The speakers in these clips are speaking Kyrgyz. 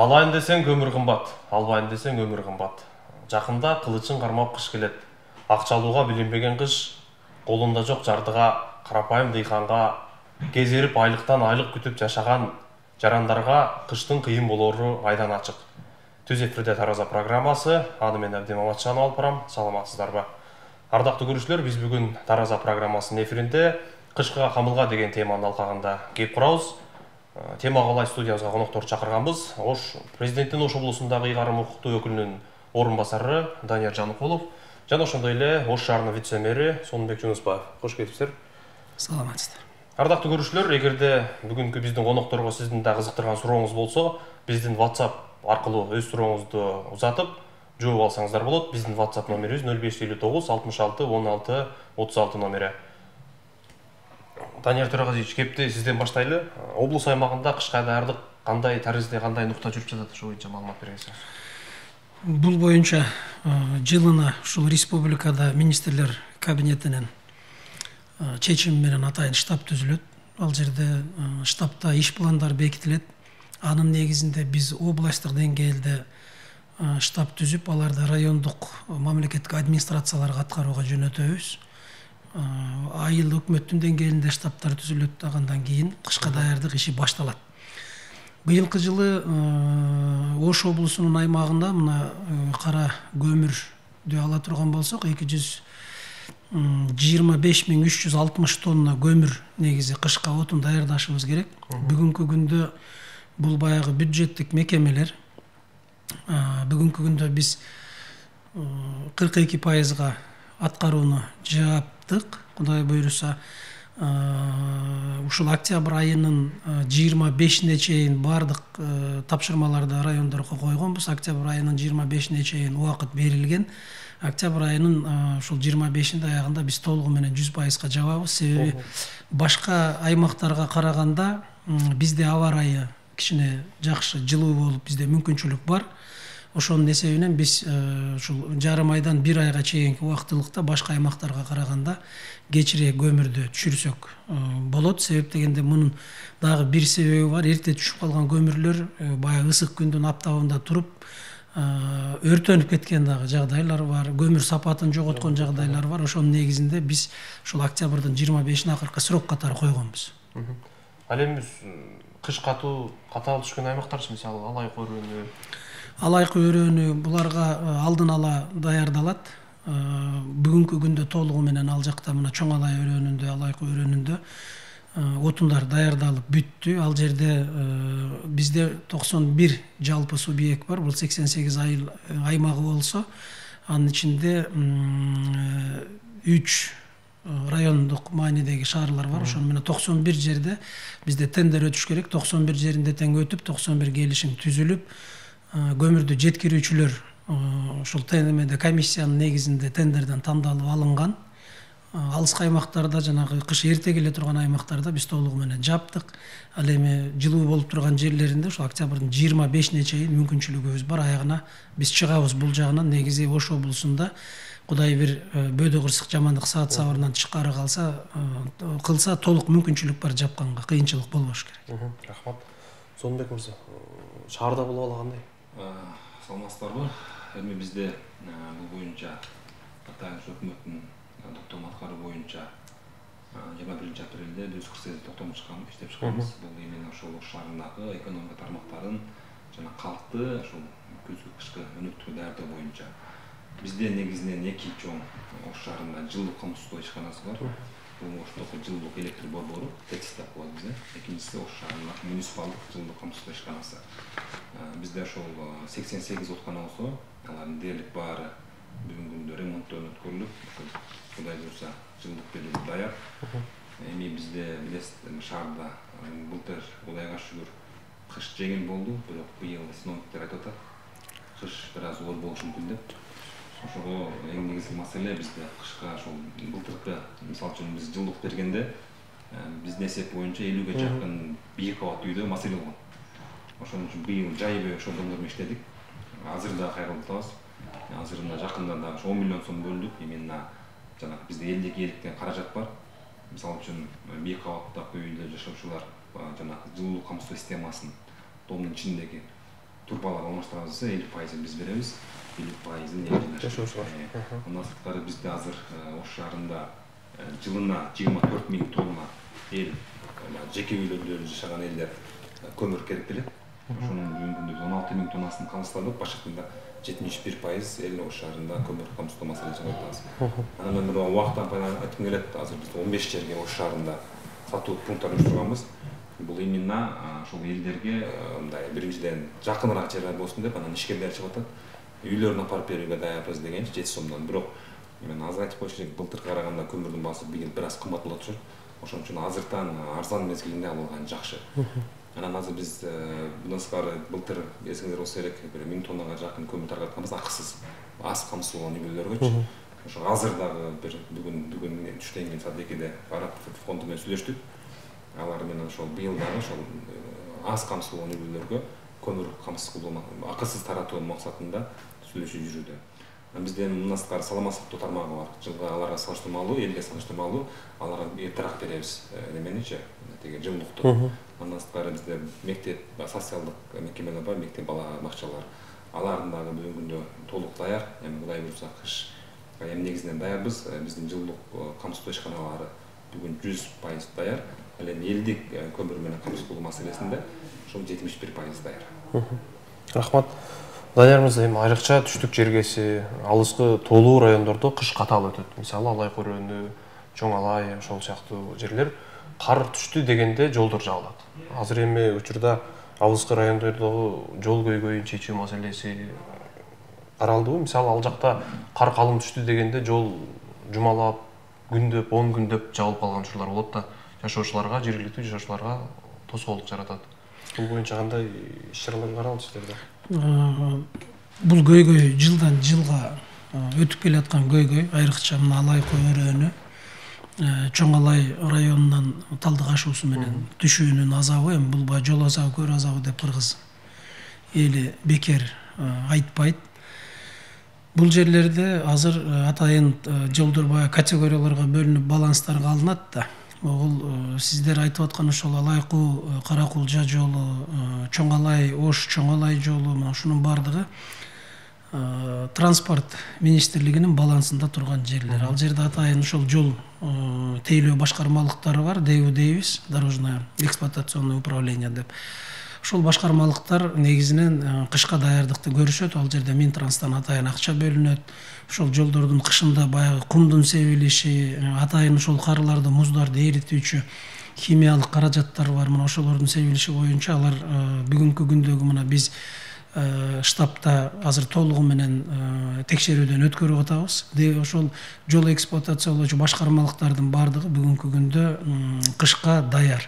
Алайын десең көмүр кымбат, албайын десең өмүр кымбат. Жакында кылычын кармап кыш келет. Акчалууга билинбеген кыш, колунда жок жардыга, карапайым дыйканга, кезерип айлыктан айлык күтүп жашаган жарандарга кыштын кыйын болору айдан ачык. Түз эфирде Тараза программасы, аны мен Абдим Аматжанов алып барам. Саламатсыздарбы? Ардактуу көрүүчүлөр, биз бүгүн Тараза программасынын эфиринде кышкыга камылга деген теманын алкагында кеп курабыз. Темага ылай студиябызга коноктор чакырганбыз. Президенттин Ош облусундагы ыйгарым укуктуу өкүлүнүн орун басары Данияр Жаныкулов жана ошондой эле Ош шаарынын вице-мэри Сонунбек Жунусбаев. Кош келипсиздер. Саламатсыздар. Ардактуу көрүүчүлөр, эгерде бүгүнкү биздин конокторго сиздин да кызыктырган сурооңуз болсо, биздин WhatsApp аркылуу өз сурооңузду узатып жооп алсаңыздар болот. Биздин WhatsApp номерибиз 0559 66 16 36 номери. Данияр Төраказович, кепти сизден баштайлы. Облус аймагында кышка даярдык кандай таризде, кандай нукта жүрүп жатат, ошо боюнча маалымат бересиз. Бул боюнча жылына ушул республикада министрлер кабинетинин чечими менен атайын штаб түзүлөт. Ал жерде штабта иш пландар бекитилет. Анын негизинде биз областтык деңгээлде штаб түзүп, аларды райондук мамлекеттик администрацияларга аткарууга жөнөтөбүз. Айыл өкмөттүн деңгээлинде штабтар түзүлөт, андан кийин кышка даярдык иши башталат. Быйылкы жылы Ош облусунун аймагында мына кара көмүрдү ала турган болсок, 225.360 тонна көмүр негизи кышка отун даярдашыбыз керек. Бүгүнкү күндө бул баягы бюджеттик мекемелер. Бүгүнкү күндө биз 42% аткарууну жаптык. Кудай буйруса, ушул октябрь айынын 25-ине чейин бардык тапшырмаларды райондорго койгонбуз. Октябрь айынын 25-ине чейин убакыт берилген. Октябрь айынын ушул 25-inde аягында биз толугу менен 100%га жабабыз. Себеби башка аймактарга караганда бизде аба ырайы кичине жакшы, жылуу болуп, бизде мүмкүнчүлүк бар. Ошонун эсебинен биз ушул жарым айдан 1 айга чейинки убактылыкта башка аймактарга караганда кечирээк көмүрдү түшүрсөк болот. Себеп дегенде мунун дагы бир себеби бар. Эрте түшүп калган көмүрлөр баягы ысык күндүн аптабында туруп өртөнүп кеткен дагы жагдайлар бар. Көмүр сапатын жоготкон жагдайлар бар. Ошонун негизинде биз ушул октябрдын 25-ине акыркы срок катары койгонбуз. Ал эми кыш катуу катаал түшкөн аймактарчы, мисалы Алайкы өрөөнү. Алайкы өрөөнү буларга алдын ала даярдалат. Бүгүнкү күндө толугу менен ал жакта мына Чоң Алай өрөөнүндө, Алайкы өрөөнүндө отундар даярдалып бүттү. Ал жерде бизде 91 жалпы субъект бар. Бул 88 аймагы болсо, анын ичинде 3 райондук маанидеги шаарлар бар. Ошону менен 91 жерде бизде тендер өтүш керек. 91 жеринде тең өтүп, 91 келишим түзүлүп, көмүрдү жеткирүүчүлөр ушул тендерде комиссиянын негизинде тендерден тандалып алынган. Алыскы аймактарда, жанагы кыш эрте келе турган аймактарда биз толугу менен жаптык. Ал эми жылуу болуп турган жерлеринде ушул октябрдын 25-ине чейин мүмкүнчүлүгүбүз бар. Аягына биз чыгабыз. Бул жагынан негизи Ош облусунда Кудай бир бөөдө кырсык жамандык саат сабырынан тышкары кылса толук мүмкүнчүлүк бар, жапканга кыйынчылык болбош керек. Рахмат. Сонунбек мырза, шаарда бул абал кандай? Саламатсыздарбы? Эми бизде бул боюнча атайын өкмөттүн токтом аткаруу боюнча 21-апрелде 148 токтом иштеп чыкканбыз. Бул именно ошол Ош шаарындагы экономика тармактарын жана калкты ошол күзгү кышкы өнүктүүгө даярдоо боюнча. Бизде негизинен 2 чоң Ош шаарында жылдык камсыздоо ишканасы бар. Бул Оштогу жылдык электр борбору, ТЭЦ деп коебуз. Экинчиси Ош шаарындагы муниципалдык жылдык камсыздоо ишканасы. Бизде ошол 88 откана болсо, алардын дээрлик баары бүгүнкү күндө ремонттон өткөрүлүп, Кудай буйруса жылдык берүүгө даяр. Эми бизде билесиз, шаарда былтыр Кудайга шүгүр кыш жеңил болду, бирок быйыл синоптиктер айтып атат, кыш бир аз оор болушу мүмкүн деп. Ошого эң негизги маселе бизде кышка ошол былтыркы, мисалы үчүн биз жылдык бергенде биздин эсеп боюнча 50ге жакын бийик кабат үйдө маселе болгон. Ошон үчүн быйыл жайбы ошол долбоор менен иштедик. Азыр да кайрылып атабыз. Азырында жакында да 10 миллион сом бөлдүк. Именно жанагы бизде элдик эликтен каражат бар. Мисалы үчүн бийик кабаттагы үйдө жашоочулар жанагы жылуу камсыздоо системасын домдун ичиндеги турбалап алмаштырабыз десе 50% биз беребиз, 50% жашоочулар. Андан сырткары бизде азыр Ош шаарында жылына 24 000 тонна эл жеке үйлөрдө жашаган элдер көмүр керектелет. Ошонун бүгүнкү күндө 16 000 тоннасын камсыздадык. Башкыртында 71% эл Ош шаарында көмүр камсыздоо маселесин чыгартабыз. Анан мен убакыттан пайдаланып айткым келет, азыр биз 15 жерге Ош шаарында сатуу пункттарын уюштурганбыз. Бул именно ошол элдерге мындай биринчиден жакыныраак жерлер болсун деп, анан ишкерлер чыгып атат. Үйлөрүнө апарып берүүгө даярбыз дегенчи 7 сомдон. Бирок мен азыр айтып коюшу керек, былтыркы караганда көмүрдүн баасы бир аз кымбат болот турат. Ошон үчүн азыртан арзан мезгилинде алган жакшы. Анан азыр биз мындан сырткары былтыр эсиңиздер болсо керек, бир 1000 тоннага жакын көмүр таркатканбыз акысыз. Аз камсыздалган үйлөргөчү. Ошо азыр дагы бир бүгүн түштөн кийин саат 2-де Араб фонду менен сүйлөштүк. Алар менен ошол быйыл дагы ошол аз камсыздалган үйлөргө көмүр камсыз кылуу, акысыз таратуу максатында сүйлөшүү жүрүүдө. Бизде мындан сырткары саламаттык тармагы бар. Жылга аларга салыштырмалуу, элге салыштырмалуу аларга эртерээк беребиз неменичи, теге жылуулукту. Андан сырткары бизде мектеп, социалдык мекемелер бар, мектеп бала бакчалар. Алардын дагы бүгүнкү күндө толук даяр. Эми Кудай буйрса кыш эми негизинен даярбыз. Биздин жылуулук камсыздоо ишканалары бүгүн 100% даяр. Ал эми элдик көмүр менен камсыз кылуу маселесинде ошол 71% даяр. Рахмат. Данияр мырза, эми айрыкча түштүк жергеси, алыскы тоолуу райондордо кыш катаал өтөт. Мисалы Алай Көрөнү, Чоң Алай ошол сыяктуу жерлер кар түштү дегенде жолдор жабылат. Азыр эми учурда алыскы райондордогу жол көйгөйүн чечүү маселеси каралдыбы? Мисалы ал жакта кар калың түштү дегенде жол жумалап, күндөп, 10 күндөп жабылып калган учурлар болот да, жашоочуларга, жергиликтүү жашоочуларга тоскоолдук жаратат. Бул боюнча кандай иш-чаралар каралды силерде? Бул көйгөй жылдан жылга өтүп келаткан көйгөй, айрыкча мына Алай Көрөнү, Чоң Алай районунан Талдык ашуусу менен түшүүнүн азабы, эми бул баягы жол азабы, көр азабы деп кыргыз эли бекер айтпайт. Бул жерлерде азыр атайын жолдор баягы категорияларга бөлүнүп баланстарга алынат да. Бул сиздер айтып аткан ошол Алайкуу Каракулжа жолу, Чоң Алай Ош Чоң Алай жолу, мына ушунун бардыгы транспорт министрлигинин балансында турган жерлер. Ал жерде атайын ошол жол тейлөө башкармалыктары бар, ДЭУ дейбиз, дорожное эксплуатационное управление деп. Ошол башкармалыктар негизинен кышка даярдыкты көрүшөт. Ал жерде Минтранстан атайын акча бөлүнөт. Ошол жолдордун кышында баягы кумдун себилиши, атайын ошол карларды, муздарды эритүүчү химиялык каражаттар бар. Мына ошолордун себилиши боюнча алар бүгүнкү күндөгү мына биз штабта азыр толугу менен текшерүүдөн өткөрүп атабыз. Ошол жол эксплуатациялоочу башкармалыктардын бардыгы бүгүнкү күндө кышка даяр.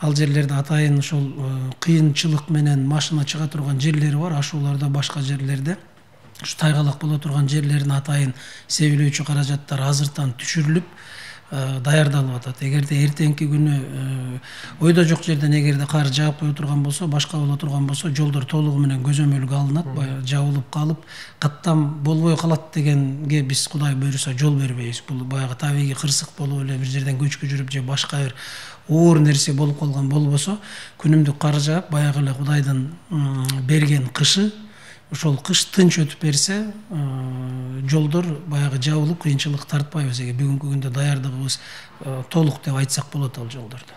Ал жерлерде атайын ошол кыйынчылык менен машина чыга турган жерлери бар, ашууларда, башка жерлерде ушу тайгалак боло турган жерлерин атайын себилөөчү каражаттар азыртан түшүрүлүп даярдалып атат. Эгерде эртеңки күнү ойдо жок жерден эгерде кар жаап кое турган болсо, башка боло турган болсо, жолдор толугу менен көзөмөлгө алынат, баягы жабылып калып, каттам болбой калат дегенге биз Кудай буйруса жол бербейбиз. Бул баягы табигый кырсык болуп эле бир жерден көчкү жүрүп же башка бир оор нерсе болуп калган болбосо, күнүмдүк кар жаап, баягы эле Кудайдын берген кышы, ошол кыш тынч өтүп берсе, жолдор баягы жабылып, кыйынчылык тартпайбыз. Бүгүнкү күндө даярдыгыбыз толук деп айтсак болот ал жолдорду.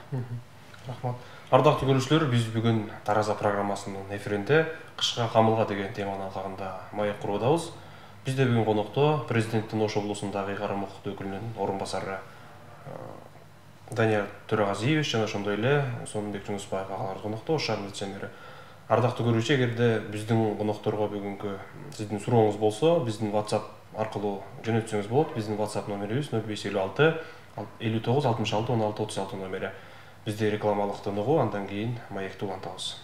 Рахмат. Ардактуу көрүүчүлөр, биз бүгүн Тараза программасынын эфиринде кышка камылга деген теманын алкагында маек куруп атабыз. Бизде бүгүн конокто президенттин Ош облусундагы ыйгарым укуктуу өкүлүнүн орун басары Данияр Төрөгазиевич жана ошондой эле Сонунбек Жунусбаев агалар конокто, Ош шаарынын вице-мери. Ардактуу көрүүчү, эгерде биздин конокторго бүгүнкү сиздин сурооңуз болсо, биздин WhatsApp аркылуу жөнөтсөңүз болот. Биздин WhatsApp номерибиз 0556 59 66 16 36 номери. Бизде рекламалыктан угуу, андан кийин маекти улантабыз.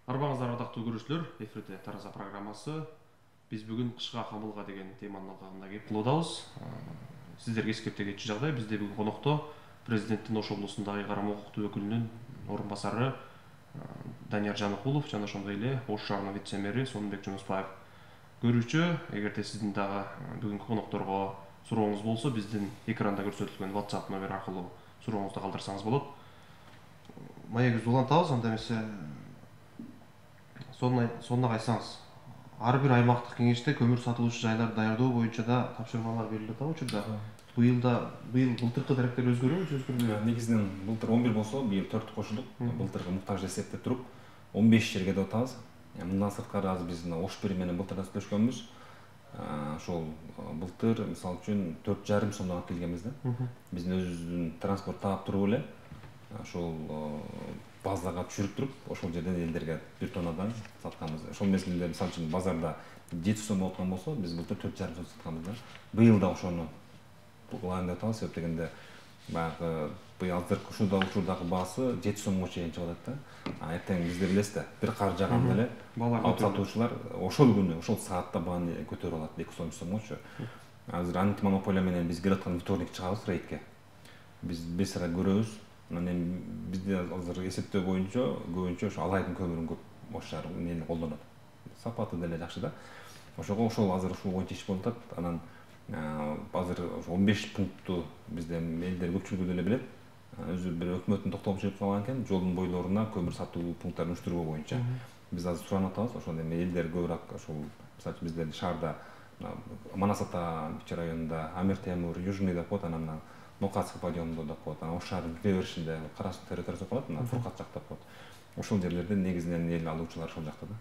Арбаңыздар, ардактуу көрүүчүлөр, эфирде Тараза программасы. Биз бүгүн кышка камылга деген теманын алкагында кеп кылуудабыз. Сиздерге эскерте кетчү жагдай, бизде бүгүн конокто президенттин Ош облусундагы ыйгарым укуктуу өкүлүнүн орун басары Данияр Жаныкулов жана ошондой эле Ош шаарынын вице-мэри Сонунбек Жунусбаев. Көрүүчү, эгерде сиздин дагы бүгүнкү конокторго сурооңуз болсо, биздин экранда көрсөтүлгөн WhatsApp номер аркылуу сурооңузду калтырсаңыз болот. маегибизди улантабыз, анда эмесе сонуна айтсаңыз. Ар бир аймактык кеңеште көмүр сатылуучу жайларды даярдоо боюнча да тапшырмалар берилип атабы учурда. Быйыл былтыркы даректер өзгөрөбү же өзгөрбөйбү? Негизинен былтыр 11 болсо, быйыл 4 кошулдук. Былтыркы муктаж эсептеп туруп 15 жерге деп атабыз. Мындан сырткары азыр биз Ош-1 менен былтыр да сүйлөшкөнбүз. Ошол былтыр мисалы үчүн 4,5 сомдон алып келгенбиз да. Биздин өзүбүздүн транспорт таап туруп эле ошол базага түшүрүп туруп, ошол жерден элдерге 1 тоннадан сатканбыз. Ошол мезгилде мисалы үчүн базарда 7 сом болуп аткан болсо, биз былтыр 4,5 сом сатканбыз да. Быйыл да ошону кылайын деп атабыз, себеп дегенде баягы азыркы учурдагы баасы 7 сомго чейин чыгып атат да. Эртең бизде билесиз да, бир кар жааганда эле алып сатуучулар ошол күнү, ошол саатта бааны көтөрүп алат 2 сом 3 сомгочу. Азыр антимонополия менен биз келаткан вторник чыгабыз рейдке. Биз бесара көрөбүз. Анан бизде азыр эсептөө боюнча көбүнчө ошо Алайдын көмүрүн көп Ош шаары эмне колдонот. Сапаты деле жакшы да. Ошол азыр ушул боюнча иш болуп атат. Анан азыр 15 пунктту бизде элдер көпчүлүгү деле билет. Өзү бир өкмөттүн токтомун чыгып калган экен, жолдун бойлоруна көмүр сатуу пункттарын уюштуруу боюнча. Биз азыр суранып атабыз, ошол эми элдер көбүрөөк ошол мисалы үчүн бизде шаарда Манас ата районунда Амир Темур, Южный деп коет, анан Нокатский районунда деп коет, анан Ош шаарынын кире беришинде Карасуу территориясы деп коет, Фуркат жак деп коет. Ошол жерлерде негизинен эл алуучулар ошол жакта да.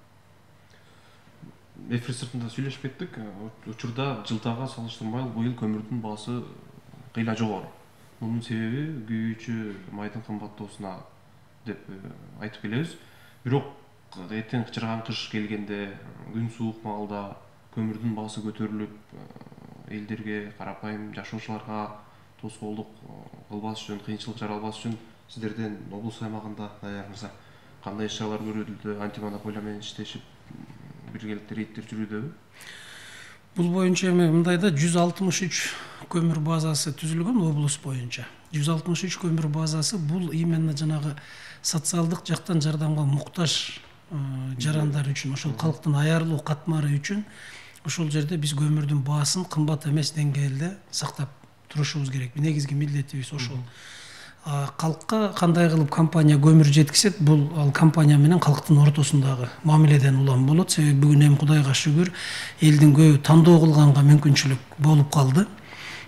Эфир сыртында сүйлөшүп кеттик. Учурда жылдага салыштырмай быйыл көмүрдүн баасы кыйла жогору. Мунун себеби күйүүчү майдын кымбаттоосуна деп айтып келебиз. Бирок эртең чырган кыш келгенде, күн суук маалда көмүрдүн баасы көтөрүлүп, элдерге, карапайым жашоочуларга тоскоолдук кылбас үчүн, кыйынчылык жаралбас үчүн сиздерден облус аймагында даярыңызда кандай иш-чаралар көрүлүүдө, антимонополия менен иштешип, биргеликте рейдтер жүрүүдөбү? Бул боюнча эми мындайда 163 көмүр базасы түзүлгөн облус боюнча. 163 көмүр базасы бул именно жанагы социалдык жактан жардамга муктаж жарандар үчүн, ошол калктын аярлуу катмары үчүн ошол жерде биз көмүрдүн баасын кымбат эмес деңгээлде сактап турушубуз керек. Негизги милдетибиз ошол. Калкка кандай кылып компания көмүр жеткизет, бул ал компания менен калктын ортосундагы мамиледен улам болот. Себеби бүгүн эми Кудайга шүгүр элдин көбү тандоо кылганга мүмкүнчүлүк болуп калды.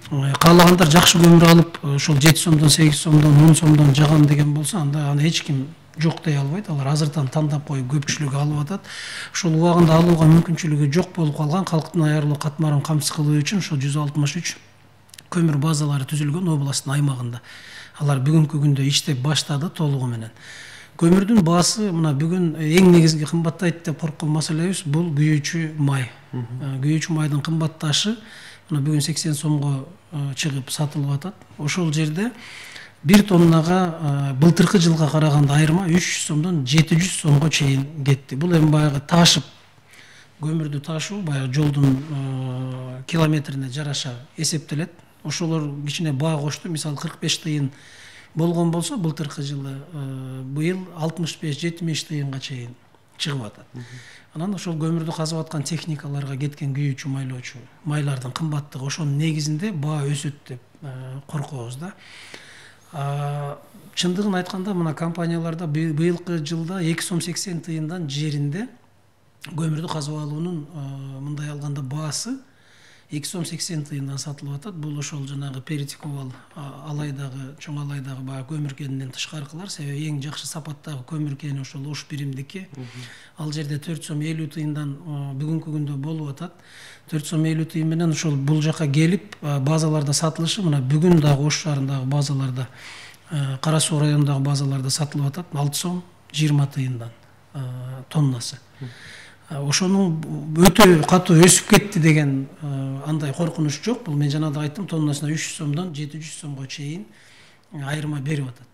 Каалагандар жакшы көмүр алып, ошол 7 сомдон, 8 сомдон, 10 сомдон жагам деген болсо, анда аны эч ким жок дей албайт. Алар азыртан тандап коюп көпчүлүгү алып атат. Ошол убагында алууга мүмкүнчүлүгү жок болуп калган калктын аярлуу катмарын камсыз кылуу үчүн ошол 163 көмүр базалары түзүлгөн областтын аймагында. Алар бүгүнкү күндө иштеп баштады толугу менен. Көмүрдүн баасы мына бүгүн эң негизги кымбаттайт деп корккон маселебиз бул күйүүчү май. Күйүүчү майдын кымбатташы мына бүгүн 80 сомго чыгып сатылып атат. Ошол жерде 1 тоннага былтыркы жылга караганда айырма 300 сомдон 700 сомго чейин кетти. Бул эми баягы ташып көмүрдү ташуу баягы жолдун километрине жараша эсептелет. Ошолор кичине баа кошту. Мисалы 45 тыйын болгон болсо, былтыркы жылы быйыл 65-70 тыйынга чейин чыгып атат. Анан ошол көмүрдү казып аткан техникаларга кеткен күйүүчү майлоочу майлардын кымбаттыгы ошонун негизинде баа өсөт деп коркобуз да. Чындыгын айтканда мына компанияларда быйылкы жылда 2 сом 80 тыйындан жеринде көмүрдү казып алуунун мындай алганда баасы 2 сом 80 тыйындан сатылып атат. Бул ошол жанагы Перетиковал Алайдагы, чоң Алайдагы баягы көмүр кенинен тышкаркылар. Себеби эң жакшы сапаттагы көмүр кени ошол Ош биримдики. Ал жерде 4 сом 50 тыйындан бүгүнкү күндө болуп атат. 4 сом 50 тыйын менен ошол бул жака келип базаларда сатылышы мына бүгүн дагы Ош шаарындагы базаларда, Карасуу районундагы базаларда сатылып атат 6 сом 20 тыйындан тоннасы. Ошонун өтө катуу өсүп кетти деген андай коркунуч жок. Бул мен жанагы айттым, тоннасына 300 сомдон 700 сомго чейин айырма берип атат.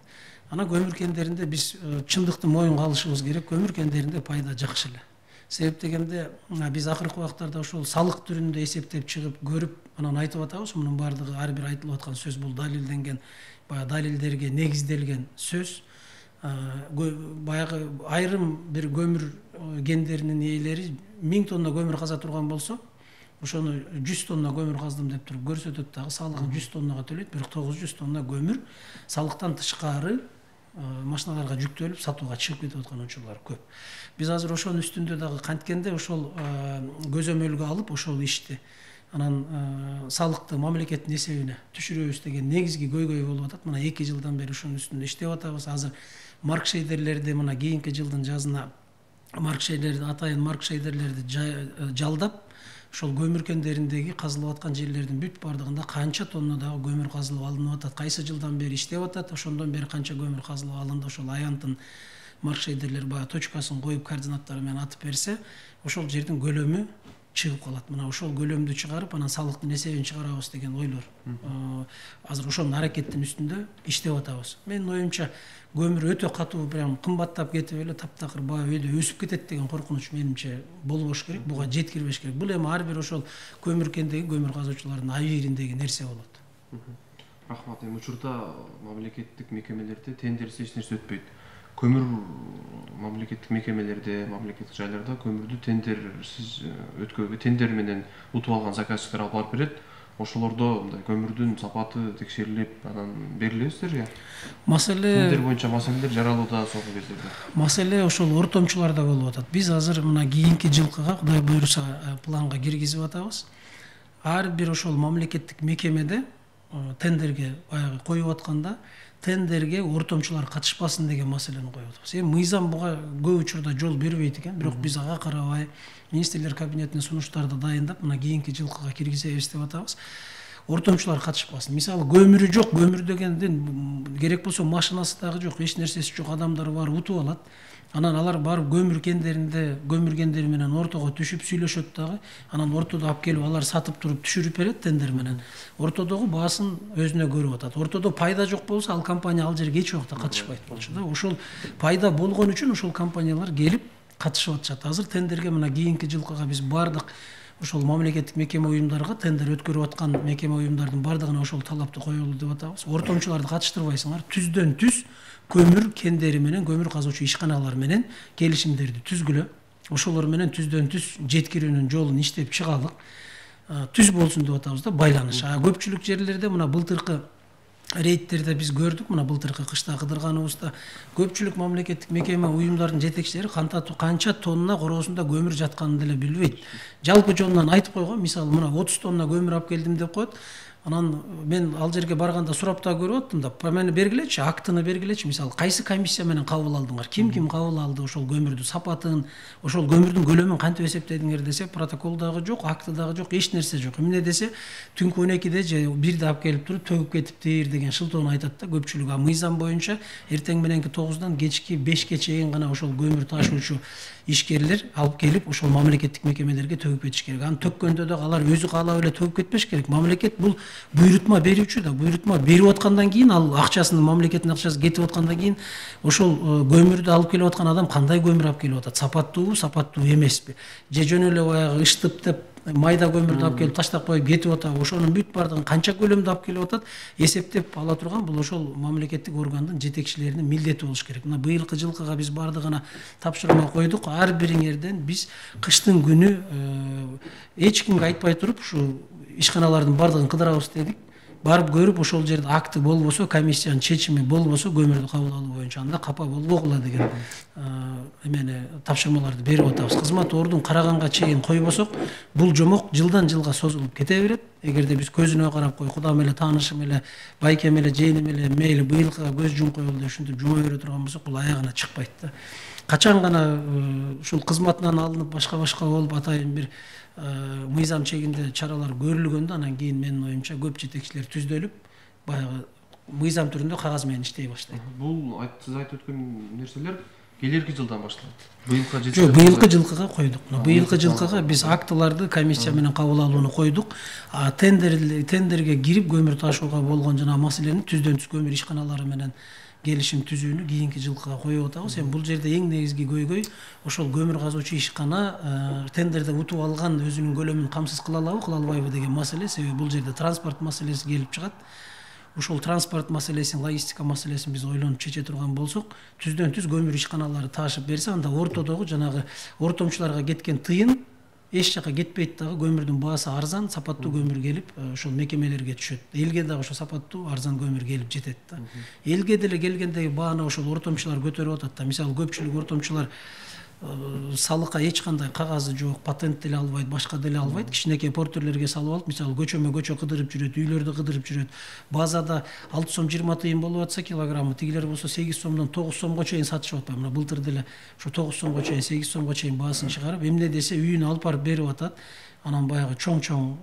Ана көмүр кендеринде биз чындыкты моюнга алышыбыз керек. Көмүр кендеринде пайда жакшы эле. Себеп дегенде биз акыркы убактарда ошол салык түрүндө эсептеп чыгып көрүп анан айтып атабыз. Мунун баардыгы ар бир айтылып аткан сөз бул далилденген, баягы далилдерге негизделген сөз. Баягы айрым бир көмүр кендеринин ээлери 1000 тонна көмүр каза турган болсо, ошону 100 тонна көмүр каздым деп туруп көрсөтөт дагы, салыгын 100 тоннага төлөйт, бирок 900 тонна көмүр салыктан тышкары машиналарга жүктөлүп сатууга чыгып кетип аткан учурлар көп. Биз азыр ошонун үстүндө дагы канткенде ошол көзөмөлгө алып ошол ишти анан салыкты мамлекеттин эсебине түшүрөбүз деген негизги көйгөй болуп атат. Мына 2 жылдан бери ошонун үстүндө иштеп атабыз. Азыр маркшейдерлерди мына кийинки жылдын жазына атайын маркшейдерлерди жалдап ошол көмүр кендериндеги казылып аткан жерлердин бүт бардыгында канча тоннадагы көмүр казылып алынып атат, кайсы жылдан бери иштеп атат, ошондон бери канча көмүр казылып алынды, ошол аянттын маркшейдерлер баягы точкасын коюп координаттары менен атып берсе, ошол жердин көлөмү чыгып калат. Мына ошол көлөмдү чыгарып, анан салыктын эсебин чыгарабыз деген ойлор. Азыр ошонун аракеттин үстүндө иштеп атабыз. Менин оюмча көмүр өтө катуу, прям кымбаттап кетип эле таптакыр баа өйдө өсүп кетет деген коркунуч менимче болбош керек, буга жеткирбеш керек. Бул эми ар бир ошол көмүр кендеги көмүр казуучулардын абийириндеги нерсе болот. Рахмат. Эми учурда мамлекеттик мекемелерде тендерсиз эч нерсе өтпөйт. Көмүр мамлекеттик мекемелерде, мамлекеттик жайларда көмүрдү тендерсиз өткөгө, тендер менен утуп алган заказчиктер алып барып берет. Ошолордо мындай көмүрдүн сапаты текшерилип, анан берилесиздерби? Маселе тендер боюнча маселелер жаралууда соңку кездерде. Маселе ошол ортомчуларда болуп атат. Биз азыр мына кийинки жылкыга Кудай буйруса планга киргизип атабыз. Ар бир ошол мамлекеттик мекемеде тендерге баягы коюп атканда тендерге ортомчулар катышпасын деген маселени коюп атабыз. Эми мыйзам буга көп учурда жол бербейт экен, бирок биз ага карабай министрлер кабинетине сунуштарды дайындап, мына кийинки жылкыга киргизебиз деп атабыз. Ортомчулар катышпасын. Мисалы көмүрү жок, көмүр дегенден керек болсо машинасы дагы жок, эч нерсеси жок, адамдар бар утуп алат. Анан алар барып көмүр кендери менен ортого түшүп сүйлөшөт дагы. Анан ортодо алып келип алар сатып туруп түшүрүп берет тендер менен. Ортодогу баасын өзүнө көрүп атат. Ортодо пайда жок болсо ал компания ал жерге эч убакта катышпайт болчу да. Ошол пайда болгон үчүн ошол компаниялар келип катышып атышат. Азыр тендерге мына кийинки жылкыга биз бардык ошол мамлекеттик мекеме уюмдарга тендер өткөрүп аткан мекеме уюмдардын бардыгына ошол талапты коелу деп атабыз. Ортомчуларды катыштырбайсыңар, түздөн түз көмүр кендери менен көмүр казуучу ишканалар менен келишимдерди түзгүлө. Ошолор менен түздөн түз жеткирүүнүн жолун иштеп чыгалык. Түз болсун деп атабыз да, байланыш. Көпчүлүк жерлерде мына былтыркы рейдтерде биз көрдүк, мына былтыркы кышта кыдырганыбызда көпчүлүк мамлекеттик мекеме уюмдардын жетекчилери канча тонна короосунда көмүр жатканын деле билбейт. Жалпы жонунан айтып койгон, мисалы мына 30 тонна көмүр алып келдим деп коет. Анан мен ал жерге барганда сурап да көрүп аттым да, мени бергилечи, актыны бергилечи, мисалы кайсы комиссия менен кабыл алдыңар, ким кабыл алды ошол көмүрдү, сапатын, ошол көмүрдүн көлөмүн кантип эсептедиңер десе, протокол дагы жок, акты дагы жок, эч нерсе жок. Эмне десе, түнкү 12-де же 1-де алып келип туруп төгүп кетиптир деген шылтоону айтат да көпчүлүк. Мыйзам боюнча эртең мененки 9-дан кечки 5-ке чейин гана ошол көмүр ташуучу ишкерлер алып келип ошол мамлекеттик мекемелерге төгүп кетиш керек. Аны төккөндө да алар өзү каалап эле төгүп кетпеш керек. Мамлекет бул буйрутма берүүчү да, буйрутма берип аткандан кийин ал акчасын, мамлекеттин акчасы кетип аткандан кийин ошол көмүрдү алып келип аткан адам кандай көмүр алып келип атат, сапаттуубу, сапаттуу эмеспи, же жөн эле баягы ыштып деп майда көмүрдү алып келип таштап коюп кетип атабы, ошонун бүт бардыгын канча көлөмдө алып келип атат эсептеп ала турган бул ошол мамлекеттик органдын жетекчилеринин милдети болуш керек. Мына быйылкы жылкыга биз бардыгына тапшырма койдук. Ар бириңерден биз кыштын күнү эч кимге айтпай туруп ушу ишканалардын бардыгын кыдырабыз дедик. Барып көрүп ошол жерде акты болбосо, комиссиянын чечими болбосо көмүрдү кабыл алуу боюнча анда капа болбогула деген эмени тапшырмаларды берип атабыз. Кызмат ордун караганга чейин койбосок, бул жомок жылдан жылга созулуп кете берет. Эгерде биз көзүнө карап кой, кудам эле, таанышым эле, байкем эле, жыйыным эле мейли быйылкыга көз жум коелу деп ушинтип жума бере турган болсок, бул аягына чыкпайт да. Качан гана ушул кызматынан алынып башка болуп атайын бир мыйзам чегинде чаралар көрүлгөндө, анан кийин менин оюмча көп жетекчилер түздөлүп, баягы мыйзам түрүндө кагаз менен иштей баштайт. Бул сиз айтып өткөн нерселер келерки жылдан башталат. Быйылкы жылкыга койдук. Быйылкы жылкыга биз актыларды комиссия менен кабыл алууну койдук. Тендерге кирип көмүр ташууга болгон жана маселени түздөн түз көмүр ишканалары менен келишим түзүүнү кийинки жылкыга коюп атабыз. Эми бул жерде эң негизги көйгөй ошол көмүр казуучу ишкана тендерде утуп алган өзүнүн көлөмүн камсыз кыла алабы, кыла албайбы деген маселе. Себеби бул жерде транспорт маселеси келип чыгат. Ошол транспорт маселесин, логистика маселесин биз ойлонуп чече турган болсок, түздөн түз көмүр ишканалары таашып берсе, анда ортодогу жанагы ортомчуларга кеткен тыйын эч жака кетпейт дагы, көмүрдүн баасы арзан, сапаттуу көмүр келип ошол мекемелерге түшөт. Элге дагы ошо сапаттуу арзан көмүр келип жетет да. Элге деле келгендеги бааны ошол ортомчулар көтөрүп атат да. Мисалы көпчүлүк ортомчулар салыкка эч кандай кагазы жок, патент деле албайт, башка деле албайт. Кичинекей портерлерге салып алып, мисалы көчөмө көчө кыдырып жүрөт, үйлөрдү кыдырып жүрөт. Базада 6 сом 20 тыйын болуп атса килограммы, тигилер болсо 8 сомдон 9 сомго чейин сатышып атпайбы? Мына былтыр деле ошо 9 сомго чейин, 8 сомго чейин баасын чыгарып, эмне десе үйүнө алып барып берип атат. Анан баягы чоң-чоң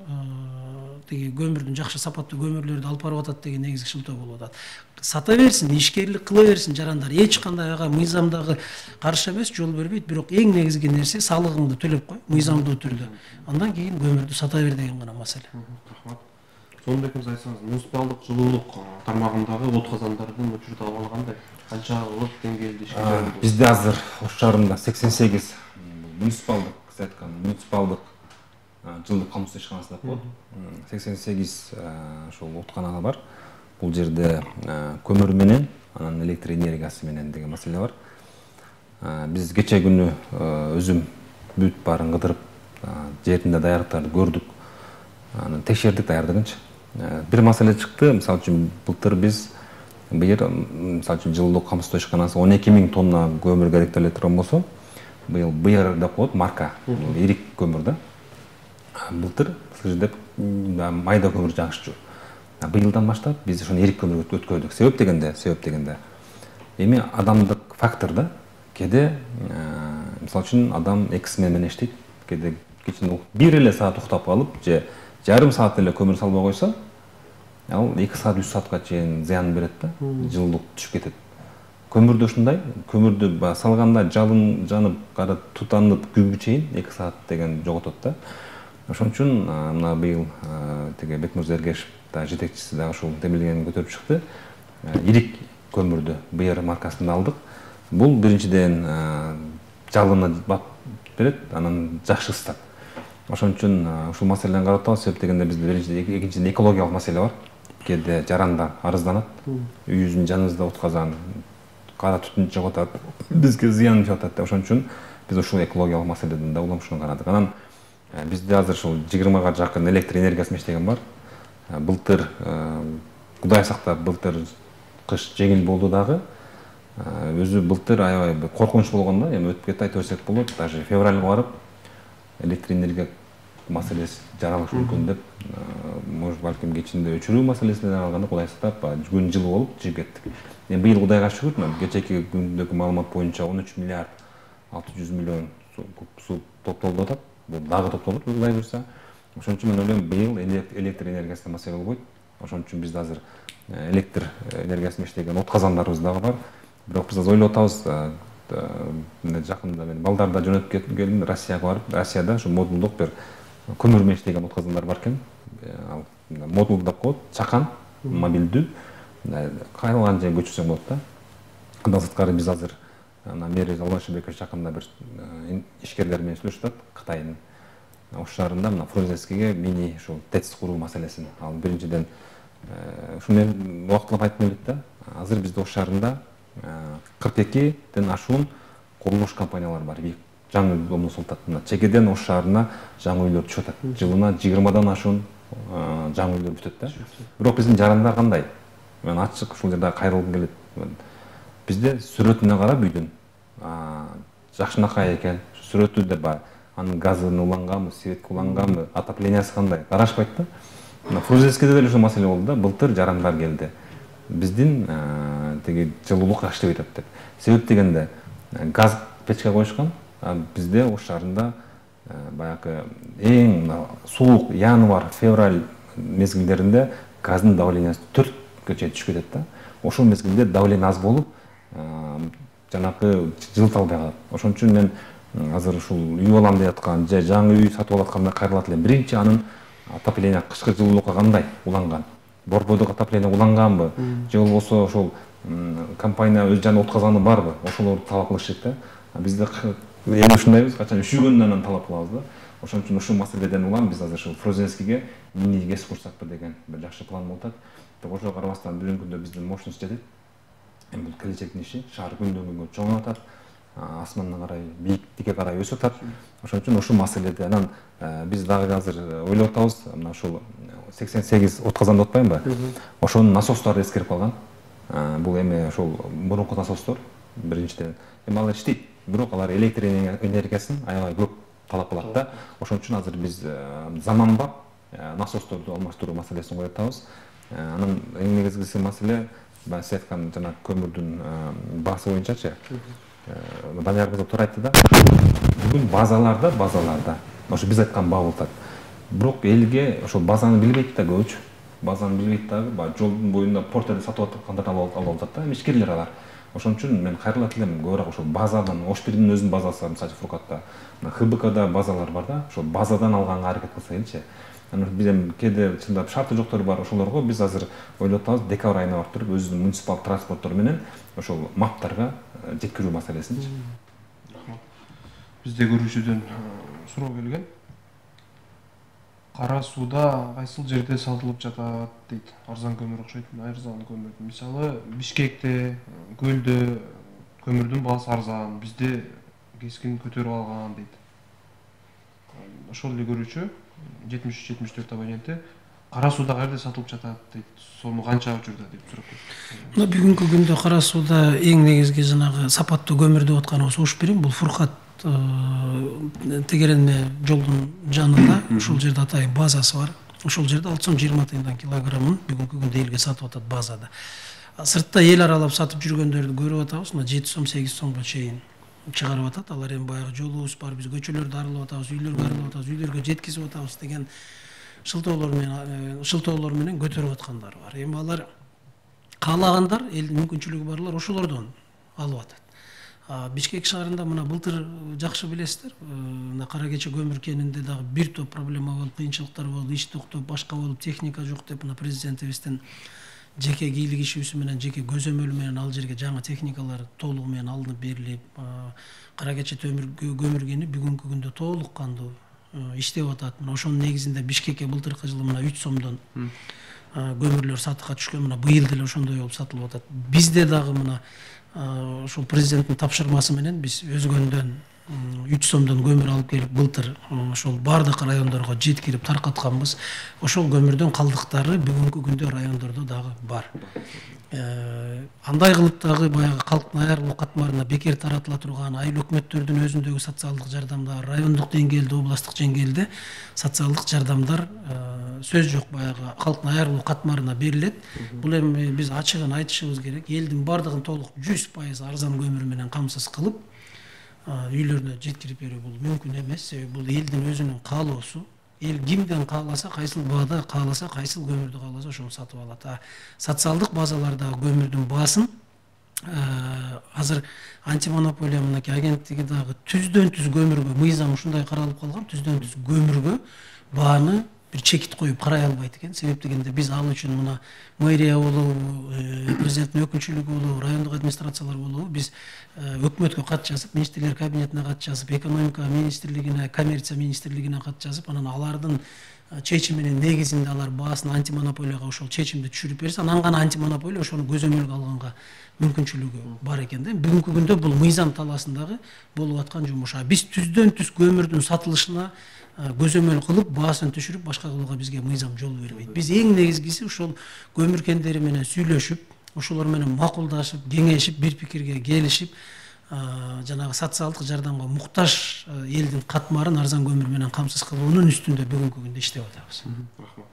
тиги көмүрдүн, жакшы сапаттуу көмүрлөрдү алып барып атат деген негизги шылтоо болуп атат. Сата берсин, ишкерлик кыла берсин жарандар. Эч кандай ага мыйзамдагы каршы эмес, жол бербейт, бирок эң негизги нерсе салыгыңды төлөп кой, мыйзамдуу түрдө. Андан кийин көмүрдү сата бер деген гана маселе. Рахмат. Сонда экенс айтсаңыз, муниципалдык жылуулук тармагындагы от казандардын учурдагы кандай? Канчалык деңгээлде ишке жаратылды? Бизде азыр Ош шаарында 88 муниципалдык, сиз айткан муниципалдык жылдык камсыз ишканасы деп коет. 88 ошол отканага бар. Бул жерде көмүр менен, анан электр энергиясы менен деген маселе бар. Биз кече күнү өзүм бүт баарын кыдырып, жеринде даярдыктарды көрдүк. Анан текшердик даярдыгынчы. Бир маселе чыкты. Мисалы үчүн былтыр биз быйыл мисалы үчүн жылдык камсыз ишканасы 12 000 тонна көмүр керектеле турган болсо, быйыл БР деп коет, марка, ирик көмүр да. Былтыр сыр деп майда көмүр жагышчу. Быйылдан баштап биз ошону ирик көмүргө өткөрдүк. Себеп дегенде эми адамдык фактор да. Кеде мисалы үчүн адам 2 смена менен иштейт. Кеде кечинде бир эле саат уктап калып, же жарым саат эле көмүр салбай койсо, ал 2 саат 3 саатка чейин зыян берет да, жылуулук түшүп кетет. Көмүрдө ушундай, көмүрдү салганда жалын жанып, кара тутанып күнгө чейин 2 саат деген жоготот да. Ошон үчүн мына быйыл тиги Бекмырза Эргешев да жетекчиси дагы ушул демилгени көтөрүп чыкты. Ирик көмүрдү БР маркасында алдык. Бул биринчиден жалыны бап берет, анан жакшы ысытат. Ошон үчүн ушул маселени карап атабыз. Себеп дегенде бизде биринчиден, экинчиден экологиялык маселе бар. Кээде жарандар арызданат. Үйүбүздүн жаныбызда от казан, кара түтүн чыгып атат, бизге зыян чыгып атат. Ошон үчүн биз ушул экологиялык маселеден да уламшуун карадык. Анан бизде азыр ушул 20га жакын электр энергиясы иштеген бар. Былтыр Кудай сактап, былтыр кыш жеңил болду дагы. Өзү былтыр аябай коркунуч болгон да, эми өтүп кетти айта берсек болот. Даже февралга барып электр энергия маселеси жаралышы мүмкүн деп, может балким кечинде өчүрүү маселесинен алганда Кудай сактап күн жылы болуп жигип кеттик. Эми быйыл Кудайга шүгүр, кечеки күндөгү маалымат боюнча 13 миллиард 600 миллион суу топтолуп атат. Бул дагы топтолот Кудай буйрса. Ошон үчүн мен ойлойм, быйыл электр энергиясында маселе болбойт. Ошон үчүн бизде азыр электр энергиясында иштеген от казандарыбыз дагы бар. Бирок биз ойлоп атабыз, жакында мен балдарда жөнөтүп келдим Россияга барып, Россияда ушу модулдук бир көмүр менен иштеген от казандар бар экен. Ал модул деп коет, чакан, мобилдүү, кайрылган жерге көчүрсөң болот да. Андан сырткары биз азыр мэр Албашбеков жакында бир ишкерлер менен сүйлөшүп атат, Кытайдын Ош шаарында мына Фрунзенскийге мини ушул ТЭЦ куруу маселесин. Ал биринчиден ушуну мен убактылап айтып элек да. Азыр бизде Ош шаарында 42ден ашуун курулуш компаниялары бар. Жаңы домду султат. Чекеден Ош шаарына жаңы үйлөр түшүп атат. Жылына 20дан ашуун жаңы үйлөр бүтөт да. Бирок биздин жарандар кандай? Мен ачык ушул жерде кайрылгым келет. Бизде сүрөтүнө карап үйдүн жакшынакай экен. Сүрөтү да бар. Анын газын уланганбы, светке уланганбы, отоплениясы кандай? Карашпайт да. Мына Фрунзенскийде деле ушул маселе болду да. Былтыр жарандар келди. Биздин тиги жылуулук жакшы деп атат деп. Себеп дегенде газ печке коюшкан. Бизде Ош шаарында баягы эң суук январь, февраль мезгилдеринде газдын давлениясы 4ке чейин түшүп кетет да. Ошол мезгилде давление аз болуп, жанакы жылыта албай калат. Ошон үчүн мен азыр ушул үй алам деп аткан, же жаңы үй сатып алып атканда кайрылат элем. Биринчи анын отопление кышкы жылуулукка кандай уланган? Борбордук отопление уланганбы? Же болбосо ошол компания өз жанында от казаны барбы? Ошолорду талап кылыш керек да. Бизде эми ушундайбыз, качан üşүгөндөн анан талап кылабыз да. Ошон үчүн ушул маселеден улам биз азыр ушул Фрунзенскийге мини ГЭС курсакпы деген бир жакшы план болуп атат. Ошого карабастан бүгүнкү күндө биздин мощность жетет. Эми бул келечектин иши, шаар күндөн күнгө чоңоюп атат. асманга карай, бийиктикке карай өсүп атат. Ошон үчүн ушул маселеде анан биз дагы азыр ойлоп атабыз, мына ушул 88 отказан деп атпаймынбы? Ошонун насостору эскерип калган. Бул эми ошол мурунку насостор биринчиден. Эми алар иштейт, бирок алар электр энергиясын аябай көп талап кылат да. Ошон үчүн азыр биз заманбап насосторду алмаштыруу маселесин коюп атабыз. Анан эң негизгиси маселе сиз айткан жана көмүрдүн баасы боюнчачы. Данияр кызы туура айтты да. Бүгүн базаларда ошо биз айткан баа болуп атат. Бирок элге ошол базаны билбейт да көбүчө. Базаны билбейт дагы, жолдун боюнда портерди сатып аткандар алып атат да, ишкерлер алар. Ошон үчүн мен кайрылат элем көбүрөөк ошол базадан, Ош-Бирдин өзүнүн базасы бар, мисалы Фуркатта, ХБКда базалар бар да, ошол базадан алганга аракет кылса элчи. Анан биз эми кээде чындап шарты жоктору бар ошолорго биз азыр ойлоп атабыз, декабрь айына барып туруп өзүбүздүн муниципалдык транспорттор менен ошол маптарга жеткирүү маселесинчи. Рахмат. Бизде көрүүчүдөн суроо келген. Кара сууда кайсыл жерде сатылып жатат дейт. Арзан көмүр окшойт, арзан көмүр. Мисалы Бишкекте, Көлдө көмүрдүн баасы арзан, бизде кескин көтөрүп алган дейт. Ошол эле көрүүчү 73-74 абоненти кара сууда каерде сатылып жатат дейт. Сому канча учурда деп сурап кетти. Мына бүгүнкү күндө кара сууда эң негизги жанагы сапаттуу көмүр деп атканыбыз Ош-Бирин, бул Фуркат тегерене жолдун жанында, ушул жерде атайын базасы бар. Ошол жерде 6 сом 20 тыйындан килограммын бүгүнкү күндө элге сатып атат базада. Сыртта эл аралап сатып жүргөндөрдү көрүп атабыз, мына 7 сом 8 сомго чейин чыгарып атат. Алар эми баягы жолубуз бар, биз көчөлөрдү аралап атабыз, үйлөргө аралап атабыз, үйлөргө жеткизип атабыз деген шылтоолор менен көтөрүп аткандар бар. Эми алар каалагандар, элдин мүмкүнчүлүгү барлар ошолордон алып атат. Бишкек шаарында мына былтыр жакшы билесиздер, мына Кара Кече көмүр кенинде дагы бир топ проблема болуп, кыйынчылыктар болуп, иш токтоп, башка болуп, техника жок деп мына президентибиздин жеке бийлик ишибиз менен, жеке көзөмөлү менен ал жерге жаңы техникалар толугу менен алынып берилип, Кара Кече көмүр кени бүгүнкү күндө толук кандуу иштеп атат. Мына ошонун негизинде Бишкекке былтыркы жылы мына 3 сомдон көмүрлөр сатыкка түшкөн, мына быйыл деле ошондой болуп сатылып атат. Бизде дагы мына ошол президенттин тапшырмасы менен биз өзгөндөн 3 сомдон көмүр алып келип былтыр ошол бардык райондорго жеткирип таркатканбыз. Ошол көмүрдүн калдыктары бүгүнкү күндө райондордо дагы бар. Андай кылып дагы баягы калктын айырылуу катмарына бекер таратыла турган айыл өкмөттөрдүн өзүндөгү социалдык жардамдар, райондук деңгээлде, областтык деңгээлде социалдык жардамдар сөз жок, баягы калктын айырылуу катмарына берилет. Бул эми биз ачыгын айтышыбыз керек. Элдин бардыгын толук 100% арзан көмүр менен камсыз кылып үйлөрүнө жеткирип берүү бул мүмкүн эмес. Себеби бул элдин өзүнүн каалоосу. Эл кимден кааласа, кайсыл баада кааласа, кайсыл көмүрдү кааласа ошону сатып алат. Социалдык базалардагы көмүрдүн баасын азыр антимонополия мынакей агенттиги дагы түздөн түз көмүргө мыйзам ушундай каралып калган, түздөн түз көмүргө бааны бир чекит коюп карай албайт экен. Себеп дегенде биз ал үчүн мына мэрия болобу, президенттин өкүнчүлүгү болобу, райондук администрациялар болобу, биз өкмөткө кат жазып, министрлер кабинетине кат жазып, экономика министрлигине, коммерция министрлигине кат жазып, анан алардын чечиминин негизинде алар баасын антимонополияга ошол чечимди түшүрүп берсе, анан гана антимонополия ошону көзөмөлгө алганга мүмкүнчүлүгү бар экен да. Бүгүнкү күндө бул мыйзам талаасындагы болуп аткан жумуш. Биз түздөн түз көмүрдүн сатылышына көзөмөл кылып, баасын түшүрүп, башка кылууга бизге мыйзам жол бербейт. Биз эң негизгиси ушул көмүр кендери менен сүйлөшүп, ошолор менен макулдашып, кеңешип, бир пикирге келишип, жанагы социалдык жардамга муктаж элдин катмарын арзан көмүр менен камсыз кылуунун үстүндө бүгүнкү күндө иштеп атабыз. Рахмат.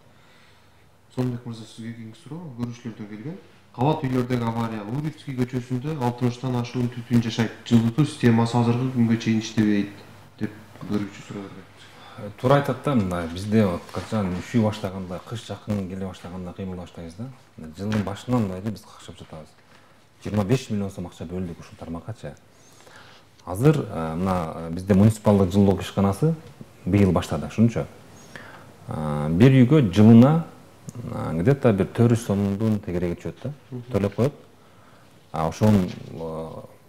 Сонбек мырза, сизге кийинки суроо көрүүчүлөрдөн келген. Кабат үйлөрдөгү авария Лурицкий көчөсүндө 60 ашуун түтүн жашайт. Жылытуу системасы азыркы күнгө чейин иштебейт деп көрүүчү суроо берген. Туура айтат да, мына бизде качан üşүй баштаганда, кыш жакын келе баштаганда кыймыл баштайбыз да. Жылдын башынан бери биз какшап жатабыз. 25 миллион сом акча бөлдүк ушул тармаккачы. Азыр мына бизде муниципалдык жылуулук ишканасы быйыл баштады, ушунчу. Бир үйгө жылына где-то бир 400 сомдун тегереги түшөт да, төлөп коет. Ошон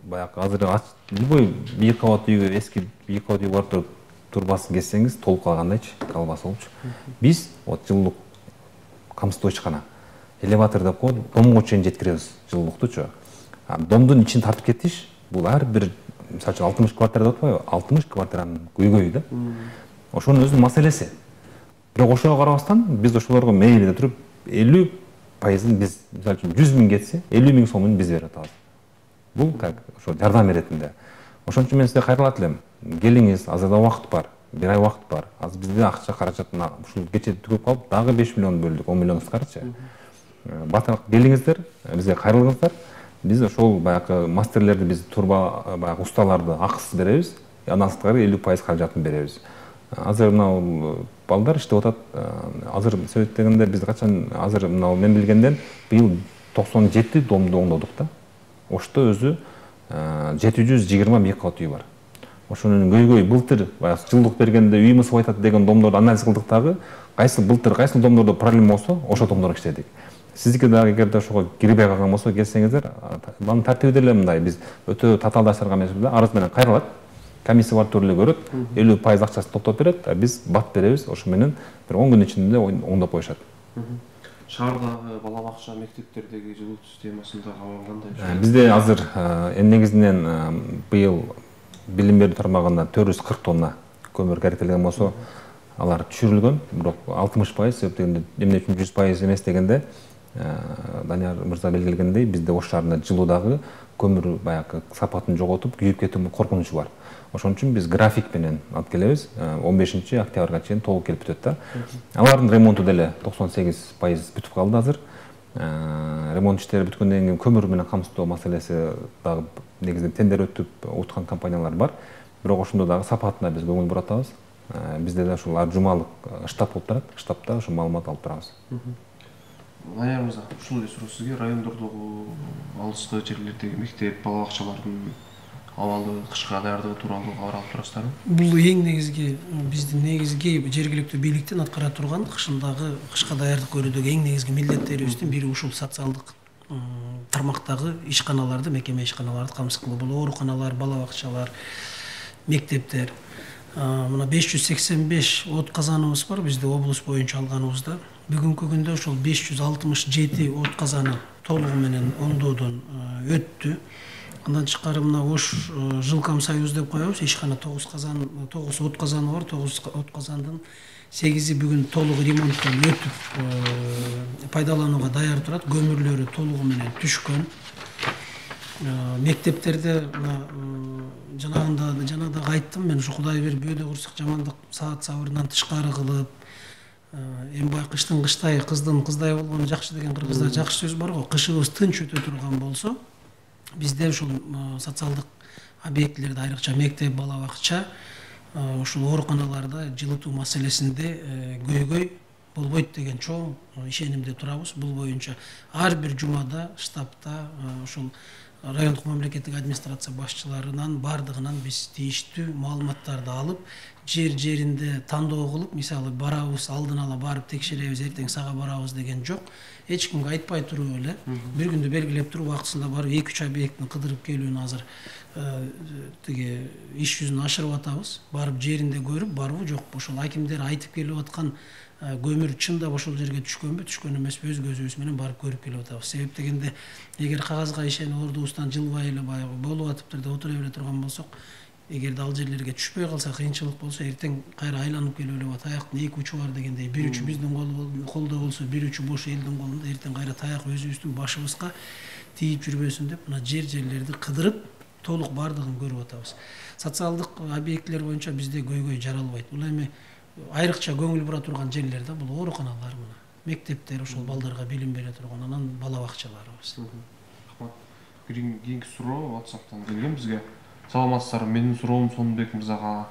баягы азыр любой бийик кабат үйгө, эски бийик кабат үйгө барып турбасын кессеңиз толуп калгандайчы, калбасы болчу. Биз вот жылуулук камсыздоо ишкана элеватор деп коет, домго чейин жеткиребиз жылуулуктучу. Домдун ичин тартып кетиш бул ар бир мисалы үчүн 60 квартира деп атпайбы, 60 квартиранын көйгөйү да. Ошонун өзүнүн маселеси. Бирок ошого карабастан биз ошолорго мейилиде туруп 50% биз мисалы үчүн 100 000 кетсе 50 000 сомун биз берип атабыз. Бул как ошо жардам иретинде. Ошон үчүн мен сизге кайрылат элем. Келиңиз, азыр да убакыт бар. 1 ай убакыт бар. Азыр бизде акча каражатына ушул кече түгөп калып, дагы 5 миллион бөлдүк, 10 миллион ускарчы. Батыр келиңиздер, бизге кайрылыңыздар. Биз ошол баягы мастерлерди, биз турба баягы усталарды акысыз беребиз. Андан сырткары 50% каражатын беребиз. Азыр мынау балдар иштеп атат. Азыр сөйттегенде биз качан азыр мынау мен билгенден быйыл 97 домду оңдодук да. Ошто өзү 720 кат үй бар. Ошонун көйгөй былтыр баягы жылдык бергенде үй мысып айтат деген домдорду анализ кылдык дагы, кайсы былтыр кайсы домдордо проблема болсо, ошо домдорго иштедик. Сиздики дагы эгерде ошого кирбей калган болсо келсеңиздер, анын тартиби деле мындай, биз өтө татаалдаштырган эмеспиз да, арыз менен кайрылат. Комиссия бар түрлү көрөт, 50% акчасын топтоп берет, биз бат беребиз, ошо менен бир 10 күн ичинде оңдоп коюшат. Шаардагы бала бакча, мектептердеги жылуу системасында кандай? Бизде азыр негизинен быйыл билим берүү тармагында 440 тонна көмүр керектелген болсо, алар түшүрүлгөн, бирок 60% себептегенде эмне үчүн 100% эмес дегенде, Данияр мырза белгилегендей, бизде Ош шаарында жылуудагы көмүр баягы сапатын жоготуп, күйүп кетүү коркунучу бар. Ошон үчүн биз график менен алып келебиз. 15 октябрга чейин толук келип бүтөт да. Алардын ремонту деле 98% бүтүп калды азыр. Ремонт иштери бүткөндөн кийин көмүр менен камсыздоо маселеси дагы негизинен тендер өтүп уткан компаниялар бар. Бирок ошондо дагы сапатына биз көңүл бурабыз. Бизде да ушул ар жумалык штаб болуп турат. Штабта ошо маалымат алып турабыз. Данияр мырза, ушул эле суроо сизге. Райондордогу алыскы жерлердеги мектеп, бала бакчалардын абалы, кышка даярдыгы тууралуу кабар алып турасыздарбы? Бул эң негизги биздин негизги жергиликтүү бийликтин аткара турган кышындагы кышка даярдык көрүүдөгү эң негизги милдеттерибиздин бири ушул социалдык тармактагы ишканаларды, мекеме ишканаларды камсыз кылуу. Бул ооруканалар, бала бакчалар, мектептер. Мына 585 от казаныбыз бар бизде облус боюнча алганыбызда. Бүгүнкү күндө ошол 567 от казаны толугу менен оңдоодон өттү. Андан тышкары мына Ош Жилком Союз деп коебуз. Ишкана 9 от казаны бар. 9 от казандын 8и бүгүн толук ремонттон өтүп пайдаланууга даяр турат. Көмүрлөрү толугу менен түшкөн. Мектептерде жанагы айттым мен, ушу Кудай берип бөөдө курсак жамандык саат сабырынан тышкары кылып, эмбай кыштын кыштай, кыздын кыздай болгону жакшы деген кыргызда жакшы сөз бар го. Кышыбыз тынч өтө турган болсо, бизде ушул социалдык объектилерде, айрыкча мектеп, бала бакча, ушул ооруканаларда жылытуу маселесинде көйгөй болбойт деген чоң ишенимде турабыз. Бул боюнча ар бир жумада штабта ушул райондук мамлекеттик администрация башчыларынан бардыгынан биз тийиштүү маалыматтарды алып, жеринде тандоо кылып, мисалы барабыз, алдын ала барып текшеребиз, эртең сага барабыз деген жок. Эч кимге айтпай туруп эле бир күндү белгилеп туруп убактысында барып 2-3 объекттин кыдырып келүүнү азыр тиги иш жүзүн ашырып атабыз. Барып жеринде көрүп, барбы жокпу, ошол акимдер айтып келип аткан көмүр чындап ошол жерге түшкөнбү, түшкөн эмеспи, өз көзүбүз менен барып көрүп келип атабыз. Себеп дегенде, эгер кагазга ишенип ордубуздан жылбай эле баягы болуп атыптыр деп отура бере турган болсок, эгерде ал жерлерге түшпөй калса, кыйынчылык болсо, эртең кайра айланып келип эле таяктын 2 учу бар дегендей, бир учу биздин колдо болсо, бир учу бош элдин колунда, эртең кайра таяк өзүбүздүн башыбызга тийип жүрбөсүн деп, мына жерлерди кыдырып, толук бардыгын көрүп атабыз. Социалдык объектилер боюнча бизде көйгөй жаралбайт. Бул эми айрыкча көңүл бура турган жерлер да, бул ооруканалар, мына мектептер, ошол балдарга билим бере турган, анан бала бакчаларыбыз. Рахмат. Кийинки суроо WhatsApp'тан келген бизге. Саламатсыздарбы, менин суроом Сонбек мырзага.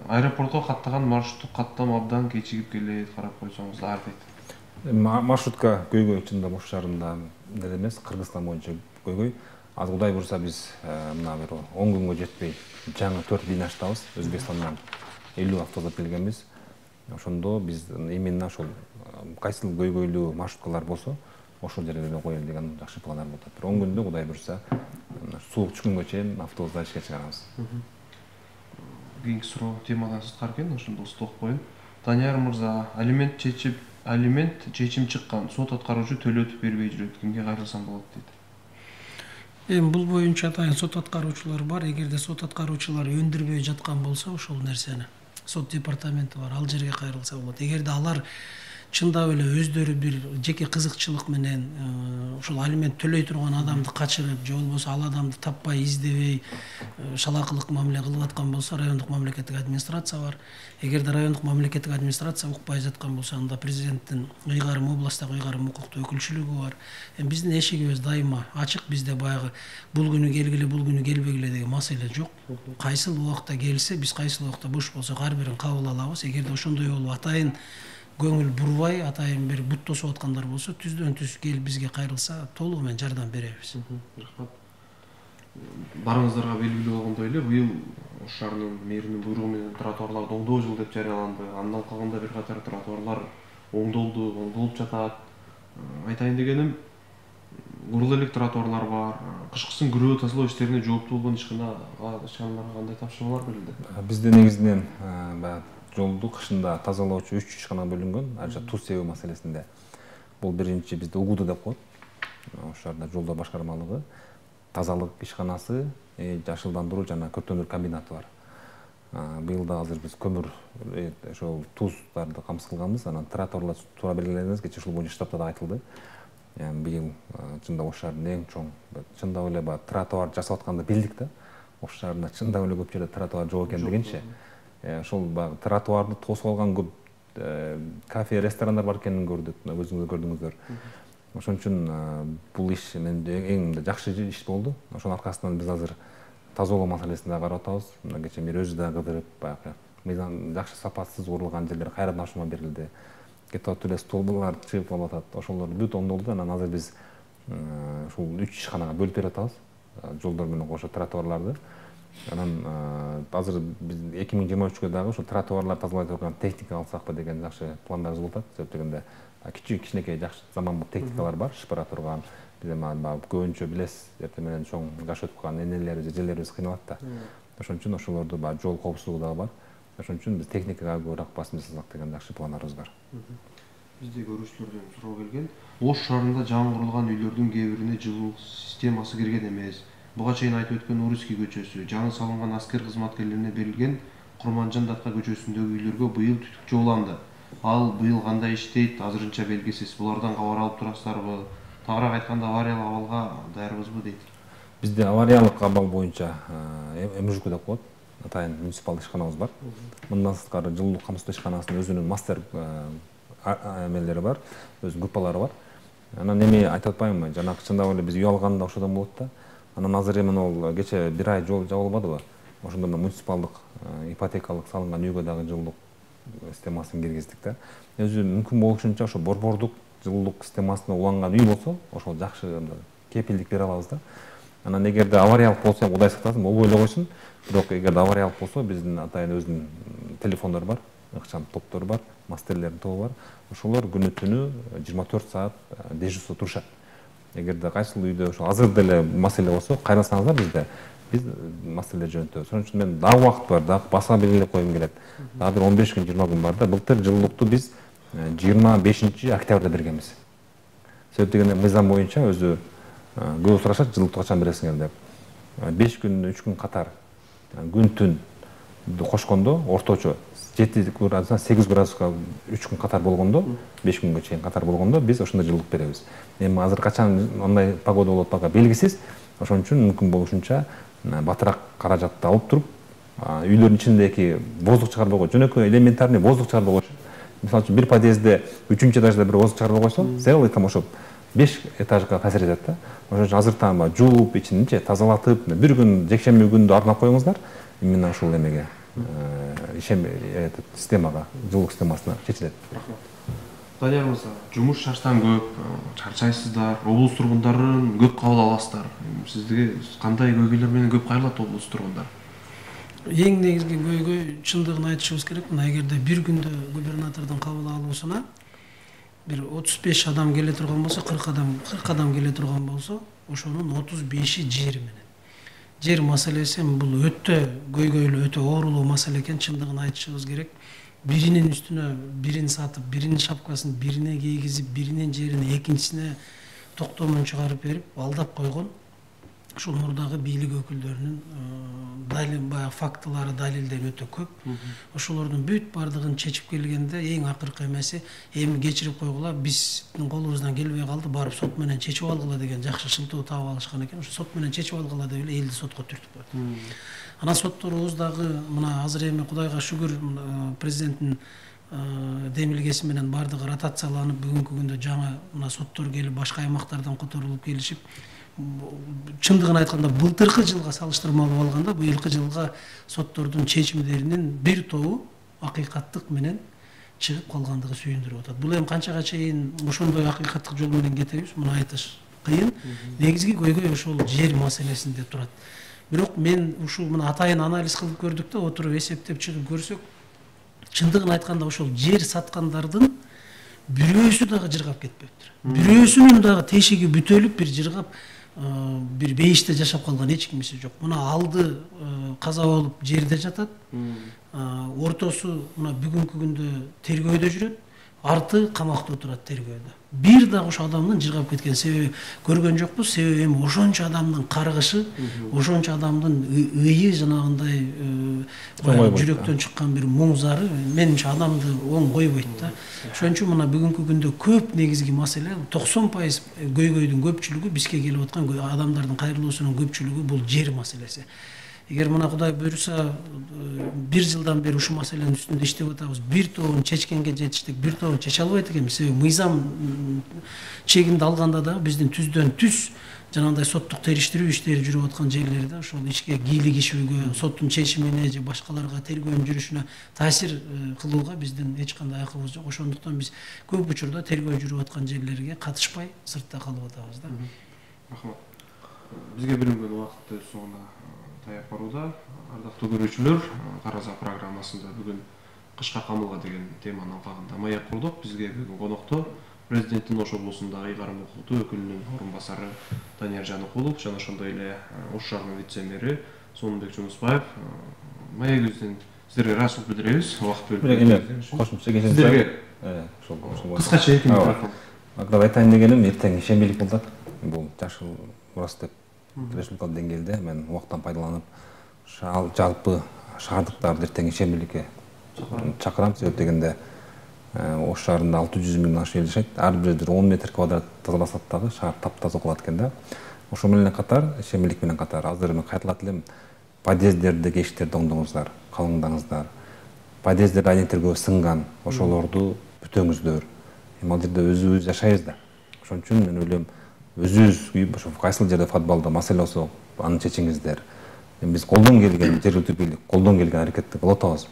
Аэропортко каттаган маршруттук каттам абдан кечигип келет, карап койсоңуздар дейт. Маршрутка көйгөй чындап Ош шаарында деле эмес, Кыргызстан боюнча көйгөй. Az Кудай бурса биз мына бир 10 күнгө жетпей жаңы 4 линия ачтабыз. Өзбекстандан 50 автобус келгенбиз. Ошондо биз именно ошол кайсыл көйгөйлүү маршруткалар болсо, ошол жерге коелу деген жакшы пландар болот. Бир 10 күндө Кудай бурса суук түшкөнгө чейин автобуста ишке чыгарабыз. Кийинки суроо темадан сырткары экен, ошондо стоп коеюн. Данияр мырза, алимент чечим чыккан, сот аткаруучу төлөтүп бербей жүрөт. Кимге кайрылсам болот дейт. Эми бул боюнча атайын сот аткаруучулар бар. Эгерде сот аткаруучулар өндүрбөй жаткан болсо ошол нерсени сот департаменти бар, ал жерге кайрылса болот. Эгерде алар чындап эле өздөрү бир жеке кызыкчылык менен ошол алимент төлөй турган адамды качырып же болбосо ал адамды таппай издебей шалакылык мамиле кылып аткан болсо райондук мамлекеттик администрация бар. Эгерде райондук мамлекеттик администрация укпай жаткан болсо анда президенттин ыйгарым, областтагы ыйгарым укуктуу өкүлчүлүгү бар. Эми биздин эшигибиз дайыма ачык. Бизде баягы бул күнү келгиле, бул күнү келбегиле деген маселе жок. Кайсыл убакта келсе, биз кайсыл убакта бош болсок ар бирин кабыл алабыз. Эгерде ошондой болуп атайын көңүл бурбай, атайын бир бут тосуп аткандар болсо, түздөн түз келип бизге кайрылса толугу менен жардам беребиз. Рахмат. Барыңыздарга белгилүү болгондой эле быйыл Ош шаарынын мэринин буйругу менен тротуарларды оңдоо жылы деп жарыяланды. Андан калганда бир катар тротуарлар оңдолду, оңдолуп жатат. Айтайын дегеним, урул элек тротуарлар бар. Кышкысын күрөө тазалоо иштерине жооптуу болгон ишканаларга кандай тапшырмалар берилди? Бизде негизинен баягы жолду кышында тазалоочу 3 ишкана бөлүнгөн. Ажа туз себүү маселесинде. Бул биринчи бизде УГУД деп коет. Ош шаарында жолдор башкармалыгы, тазалык ишканасы, жашылдандыруу жана көптөмүр комбинаты бар. Быйыл да азыр биз көмүр ошол туздарды камсыз кылганбыз. Анан тротуарлар туура белгиленбес, кечээ ушул боюнча штабта да айтылды. Быйыл чындап Ош шаарынын эң чоң, чындап эле баягы тротуар жасап атканды билдик да. Ош шаарында чындап эле көп жерде тротуар жок экендигинчи. Ошол баягы тротуарды тосуп алган көп кафе, ресторандар бар экенин көрдүк, өзүңүз көрдүңүздөр. Ошон үчүн бул иш менде эң жакшы иш болду. Ошонун аркасынан биз азыр тазалоо маселесин да карап атабыз. Мына кечээ мэр өзү да кыдырып, баягы мыйзам жакшы сапатсыз урулган жерлер кайрадан ашума берилди. Кетип атып эле столбулар чыгып калып атат. Ошолор бүт оңдолду. Анан азыр биз ушул 3 ишканага бөлүп берип атабыз. Жолдор менен кошо тротуарларды. Анан азыр биз 2023-кө дагы ушул тротуарлар тазалай турган техника алсакпы деген жакшы пландарыбыз болуп атат. Себеп дегенде кичинекей жакшы заманбап техникалар бар, шыпыра турган. Биз эми көбүнчө билесиз, эртең менен чоң жаш өтүп калган энелерибиз, эжелерибиз кыйналат да. Ошон үчүн ошолорду жол коопсуздугу дагы бар. Ошон үчүн биз техникага көбүрөөк басым жасасак деген жакшы пландарыбыз бар. Бизде көрүүчүлөрдөн суроо келген. Ош шаарында жаңы курулган үйлөрдүн кээ бирине жылуулук системасы кирген эмес. Буга чейин айтып өткөн Уруский көчөсү, жаңы салынган аскер кызматкерлерине берилген Курманжан Датка көчөсүндөгү үйлөргө быйыл түтүк жууланды. Ал быйыл кандай иштейт, азырынча белгисиз. Булардан кабар алып турасыздарбы? Тагыраак айтканда, авариялык абалга даярбызбы дейт. Бизде авариялык абал боюнча МЖК деп коет. Атайын муниципалдык ишканабыз бар. Мындан сырткары жылуулук камсыздоо ишканасынын өзүнүн мастер эмелери бар, өз группалары бар. Анан эми айтып атпаймынбы, жанагы чындап эле биз үй алганда ошодон болот да. Анан азыр эми могул кечээ бир ай жол жабылбадыбы? Ошондо муниципалдык ипотекалык салынган үйгө дагы жылуулук системасын киргиздик да. Өзү мүмкүн болушунча ошо борбордук жылуулук системасына уланган үй болсо, ошол жакшы кепилдик бере алабыз да. Анан эгерде авариялык болсо, Кудай сактасын, болбой эле койсун. Бирок эгерде авариялык болсо, биздин атайын өзүнүн телефондор бар, ыкчам топтор бар, мастерлердин тобу бар. Ошолор күнү түнү 24 саат дежурство турушат. Эгерде кайсыл үйдө ошо азыр деле маселе болсо, кайрылсаңыздар бизде, биз маселе жөнөтөбүз. Ошон үчүн мен дагы убакыт бар, дагы баса белгилеп койгум келет. Дагы бир 15 күн, 20 күн бар да. Былтыр жылуулукту биз 25 октябрда бергенбиз. Себеп дегенде мыйзам боюнча өзү көп сурашат, жылуулукту качан бересиңер деп. 5 күн, 3 күн катар күн түн кошкондо орточо 7 градустан 8 градуска 3 күн катар болгондо, 5 күнгө чейин катар болгондо биз ошондо жылуулук беребиз. Эми азыр качан андай погода болот бага белгисиз. Ошон үчүн мүмкүн болушунча батыраак каражатты алып туруп, үйлөрдүн ичиндеги воздух чыгарбай коюп, жөнөкөй элементарный воздух чыгарбай коюш. Мисалы үчүн бир подъездде 3-этажда бир воздух чыгарбай койсо, целый там ошо 5 этажга таасир этет да. Ошон үчүн азыр там жууп, ичиничи тазалатып, бир күн жекшемби күндү арнап коюңуздар. Именно ушул эмеге системага, жылуулук системасына чечилет. Данияр мырза, жумуш шаштан көп, чарчайсыздар, облус тургундарын көп кабыл аласыздар. Сизге кандай көйгөйлөр менен көп кайрылат облус тургундар? Эң негизги көйгөй, чындыгын айтышыбыз керек, мына эгерде бир күндө губернатордун кабыл алуусуна бир 35 адам келе турган болсо, 40 адам келе турган болсо, ошонун 35-и жер менен. Жер маселеси бул өтө көйгөйлүү, өтө оорулуу маселе экен, чындыгын айтышыбыз керек. Биринин үстүнө бирин сатып, биринин шапкасын бирине кийгизип, биринин жерин экинчисине токтомун чыгарып берип, алдап койгон. ушул мурдагы бийлик өкүлдөрүнүн баягы фактылары, далилдери өтө көп. Ошолордун бүт бардыгын чечип келгенде эң акыркы эмеси эми кечирип койгула, биздин колубуздан келбей калды, барып сот менен чечип алгыла деген жакшы шылтоо таап алышкан экен. Ошо сот менен чечип алгыла деп эле элди сотко түртүп койду. Анан сотторубуз дагы мына азыр эми Кудайга шүгүр президенттин демилгеси менен бардыгы ротацияланып, бүгүнкү күндө жаңа мына соттор келип, башка аймактардан которулуп келишип, чындыгын айтканда былтыркы жылга салыштырмалуу алганда быйылкы жылга соттордун чечимдеринин бир тобу акыйкаттык менен чыгып калгандыгы сүйүндүрүп атат. Бул эми канчага чейин ошондой акыйкаттык жол менен кетебиз, муну айтыш кыйын. Негизги көйгөй ошол жер маселесинде турат. Бирок мен ушул мына атайын анализ кылып көрдүк да, отуруп эсептеп чыгып көрсөк, чындыгын айтканда ошол жер саткандардын бирөөсү дагы жыргап кетпептир. Бирөөсүнүн дагы тешиги бүтөлүп, бир жыргап, бир бейиште жашап калган эч кимиси жок. Мына алды каза болуп жерде жатат, ортосу мына бүгүнкү күндө тергөөдө жүрөт, арты камакта отурат тергөөдө. Бир дагы ошо адамдын жыргап кеткен себеби көргөн жокпуз. Себеби эми ошончо адамдын каргышы, ошончо адамдын ыйы, жанагындай жүрөктөн чыккан бир муң зары менимче адамды оң койбойт да. Ошон үчүн мына бүгүнкү күндө көп негизги маселе 90% көйгөйдүн көпчүлүгү бизге келип аткан адамдардын кайрылуусунун көпчүлүгү бул жер маселеси. Эгер мына Кудай буйруса бир жылдан бери ушул маселенин үстүндө иштеп атабыз, бир тобун чечкенге жетиштик, бир тобун чече албайт экенбиз. Себеби мыйзам чегинде алганда да биздин түздөн түз жанагындай соттук териштирүү иштери жүрүп аткан жерлерде ошол ичке кийлигишүүгө, соттун чечимине же башкаларга тергөөнүн жүрүшүнө таасир кылууга биздин эч кандай акыбыз жок. Ошондуктан биз көп учурда тергөө жүрүп аткан жерлерге катышпай сыртта калып атабыз да. Рахмат. Бизге белинген убакыт өз соңуна таяп барууда. Ардактуу көрүүчүлөр, Тараза программасында бүгүн кышка камылга деген теманын алкагында маек курдук. Бизге бүгүн конокто президенттин Ош облусундагы ыйгарым укуктуу өкүлүнүн орун басары Данияр Жаныкулов жана ошондой эле Ош шаарынын вице-мэри Сонунбек Жунусбаев. Маегибизден сиздерге ыраазычылык билдиребиз. Убакыт бөлүп кошумча кесиңиздер. Кыскача эки микрофон. Ага айтайын дегеним, эртең ишембилик болот. Бул жашыл урас деп республикалык деңгээлде мен убакыттан пайдаланып жалпы шаардыктарды эртең ишембиликке чакырам. Себеп дегенде Ош шаарында 600 миңден ашык эл жашайт. Ар бир 10 метр квадрат тазаласат дагы шаар таптаза калат экен да. Ошо менен катар, ишембилик менен катар азыр мен кайталат элем, подъезддердеги эшиктерди оңдоңуздар, калыңдаңыздар. Подъезддер айнектерге сынган, ошолорду бүтөңүздөр. Эми ал жерде өзүбүз жашайбыз да. Ошон үчүн мен ойлойм, өзүбүз ошо кайсыл жерде футболдо маселе болсо аны чечиңиздер. Биз колдон келген жергиликтүү бийлик, колдон келген аракетти кылып атабыз.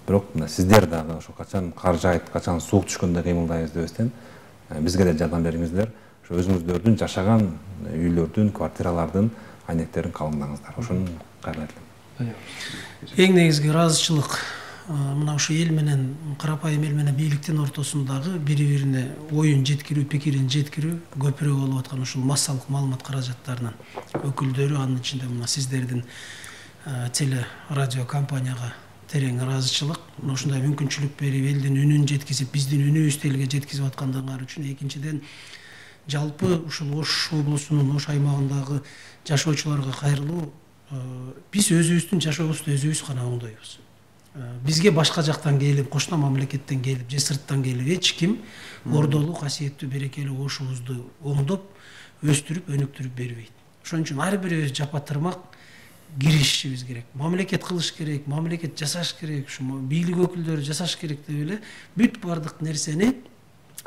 Бирок сиздер дагы ошо качан кар жаайт, качан суук түшкөндө кыймылдайбыз дебестен бизге да жардам бериңиздер. Ошо өзүңүздөрдүн жашаган үйлөрдүн, квартиралардын айнектерин калыңдаңыздар. Ошону кайрылайт элем. Эң негизги ыраазычылык мына ушу эл менен, карапайым эл менен бийликтин ортосундагы бири-бирине оюн жеткирүү, пикирин жеткирүү көпүрө болуп аткан ушул массалык маалымат каражаттарынын өкүлдөрү, анын ичинде мына сиздердин теле радио компанияга терең ыраазычылык. Ушундай мүмкүнчүлүк берип, элдин үнүн жеткизип, биздин үнүбүздү элге жеткизип аткандыгыңар үчүн. Экинчиден, жалпы ушул Ош облусунун Ош аймагындагы жашоочуларга кайрылуу, биз өзүбүздүн жашообузду өзүбүз гана оңдойбуз. Бизге башка жактан келип, кошуна мамлекеттен келип, же сырттан келип эч ким ордолуу, касиеттүү, берекелүү Ошубузду оңдоп, өстүрүп, өнүктүрүп бербейт. Ошон үчүн ар бирибиз жапа тырмак киришишибиз керек. Мамлекет кылыш керек, мамлекет жасаш керек, ушу бийлик өкүлдөрү жасаш керек деп эле бүт бардык нерсени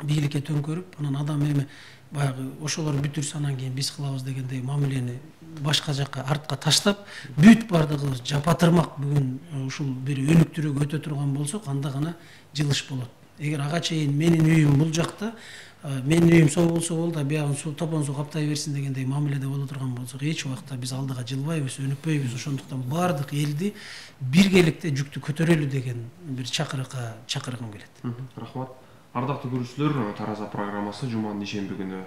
бийликке төңкөрүп, анан адам эми баягы ошолор бүтүрсө анан кийин биз кылабыз дегендей мамилени башка жакка артка таштап, бүт бардыгыбыз жапа тырмак бүгүн ушул бир өнүктүрүүгө өтө турган болсок, анда гана жылыш болот. Эгер ага чейин менин үйүм бул жакта, менин үйүм соо болсо болду, биягын суу топон суу каптай берсин дегендей мамиледе боло турган болсок, эч убакта биз алдыга жылбайбыз, өнүкпөйбүз. Ошондуктан бардык элди биргеликте жүктү көтөрөлү деген бир чакырыкка чакыргым келет. Рахмат. Ардактуу көрүүчүлөр, Тараза программасы жуманын ишемби күнү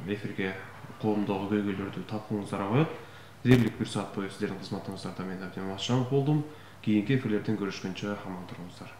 эфирге коомдогу көйгөйлөрдү талкууңуздарга коет. Дээрлик бир саат бою сиздердин кызматыңыздарда мен Абдиман Ашанов болдум. Кийинки эфирлерден көрүшкөнчө аман туруңуздар.